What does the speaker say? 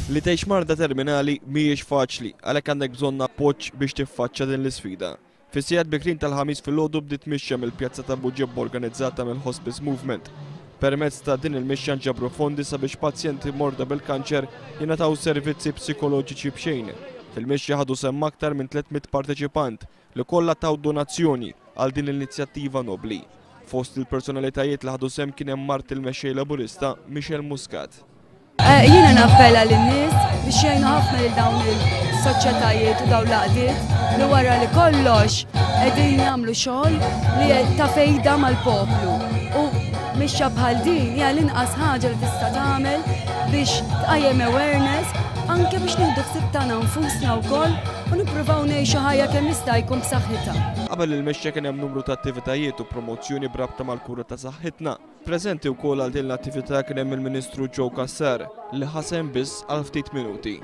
Li tgħix marda terminali mhijiex faċli, għalhekk għandek bżonn appoġġ biex tiffaċċja din l-isfida. Fis-sigħat bikrin tal-Ħamis filgħodu bdiet mixja mill-Pjazza ta' Buġibba organizzata mill-Hospice Movement. Permezz ta' din il-mixja nġabru fondi sabiex pazjenti morda bil-kanċer jingħataw servizzi psikoloġiċi b'xejn. Fil-mixja ħadu sehem aktar minn 300 parteċipant li kollha taw donazzjoni għal din l-inizjattiva nobbli. Fost il-personalitajiet li ħadu sehem kien hemm mart il-Mexxej Laburista Michelle Muscat. Jiena nappella lin-nies biex jgħinu ħafna lil dawn il-soċjetajiet u dawn l-għaqdiet li wara li kollox qegħdin jagħmlu xogħol li ta' fejda mal-poplu. U mixja bħal din hija l-inqas ħaġa li tista' tagħmel biex tqajjem awareness anke biex nieħdu ħsieb tagħna nfusna wkoll u nippruvaw ngħixu ħajja kemm jista' jkun b'saħħitha. Qabel il-mixja kien hemm numru ta' attivitajiet u promozzjoni b'rabta mal-kura ta' saħħitna. Preżenti wkoll għal din l-attività kien hemm il-Ministru Joe Cassar li ħa sehem biss għal ftit minuti.